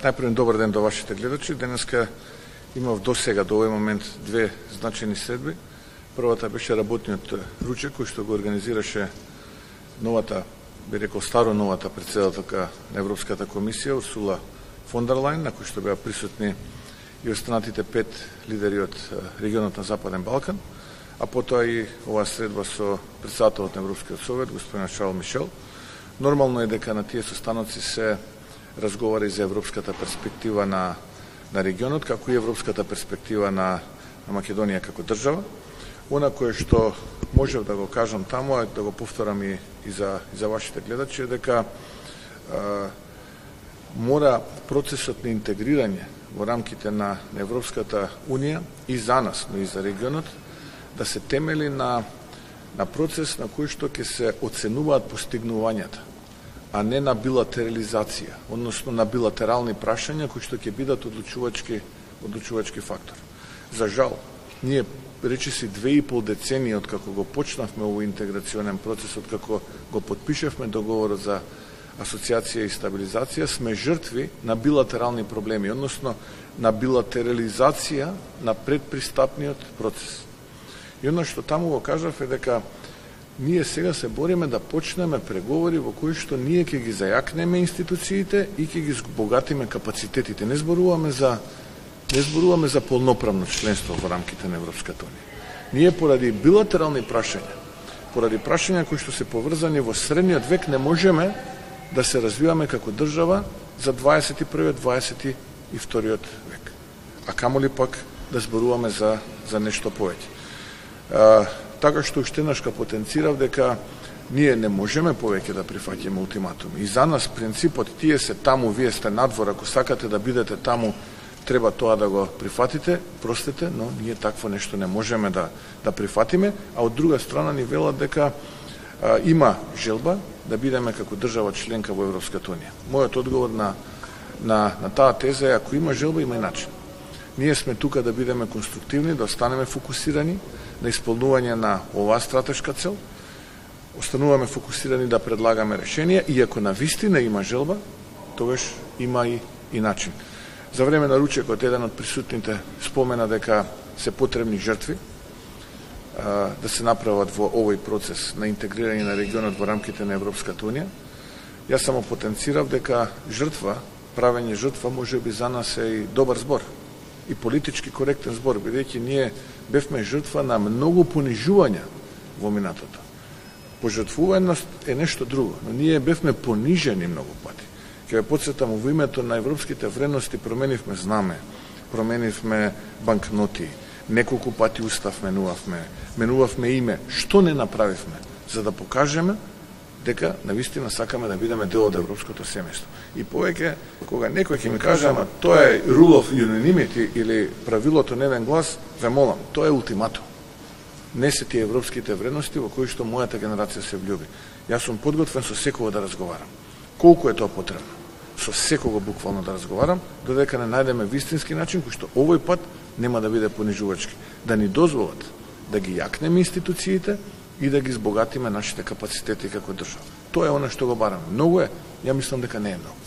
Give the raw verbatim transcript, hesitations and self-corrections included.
Најпрво добар ден до вашите гледачи. Денеска имав до сега, до овој момент, две значајни средби. Првата беше работниот ручек кој што го организираше новата, би рекол старо новата претседателка на Европската комисија Урсула фон дер Лајен, на кој што беа присутни и останатите пет лидери од регионот на Западен Балкан, а потоа и оваа средба со претседателот на Европскиот совет, господин Шарл Мишел. Нормално е дека на тие состаноци се разговара и за европската перспектива на, на регионот, како и европската перспектива на, на Македонија како држава. Она кое што можев да го кажам таму, а да го повторам и, и, за, и за вашите гледачи, е дека а, мора процесот на интегрирање во рамките на, на Европската Унија и за нас, но и за регионот, да се темели на, на процес на кој што ќе се оценуваат постигнувањата, а не на билатерализација, односно на билатерални прашања кои што ќе бидат одлучувачки, одлучувачки фактор. За жал, ние речиси две и пол децении од како го почнавме овој интеграционен процес, од како го подпишевме договорот за асоциација и стабилизација, сме жртви на билатерални проблеми, односно на билатерализација на предпристапниот процес. И оно што таму го кажав е дека ние сега се бориме да почнеме преговори во кои што ние ќе ги зајакнеме институциите и ќе ги збогатиме капацитетите. Не зборуваме за не зборуваме за полноправно членство во рамките на Европската Унија. Ние поради билатерални прашања, поради прашања кои што се поврзани во средниот век, не можеме да се развиваме како држава за дваесет и првиот дваесет и вториот век. А камоли пак да зборуваме за за нешто повеќе. А, така што уште еднаш потенцирав дека ние не можеме повеќе да прифаќаме ултиматуми. И за нас принципот тие се таму, вие сте надвор, ако сакате да бидете таму, треба тоа да го прифатите, простете, но ние такво нешто не можеме да да прифатиме, а од друга страна ни велат дека а, има желба да бидеме како држава членка во Европската Унија. Мојот одговор на на на таа теза е, ако има желба, има и начин. Ние сме тука да бидеме конструктивни, да останеме фокусирани на исполнување на оваа стратешка цел, остануваме фокусирани да предлагаме решенија и ако на вистина има желба, тогаш има и, и начин. За време на ручекот еден од присутните спомена дека се потребни жртви а, да се направат во овој процес на интегрирање на регионот во рамките на Европската Унија. Јас само потенцирав дека жртва, правење жртва може би за нас е и добар збор и политички коректен збор, бидејќи ние бевме жртва на многу понижувања во минатото. Пожртвуваност е нешто друго, но ние бевме понижени многу пати. Ќе ве потсетам, во името на европските вредности променивме знаме, променивме банкноти, неколку пати устав менувавме, менувавме име. Што не направивме за да покажеме дека навистина сакаме да бидеме дел од европското семејство. И повеќе, кога некој ќе ми каже, ама тоа е rule of unanimity или правилото на еден глас, ве молам, тоа е ултиматум. Не се тие европските вредности во кои што мојата генерација се влюби. Јас сум подготвен со секого да разговарам. Колку е тоа потребно? Со секого буквално да разговарам, додека не најдеме вистински начин кој што овој пат нема да биде понижувачки. Да ни дозволат да ги јакнеме институциите и да ги збогатиме нашите капацитети како држава. Тоа е она што го бараме. Многу е? Ја мислам дека не е многу.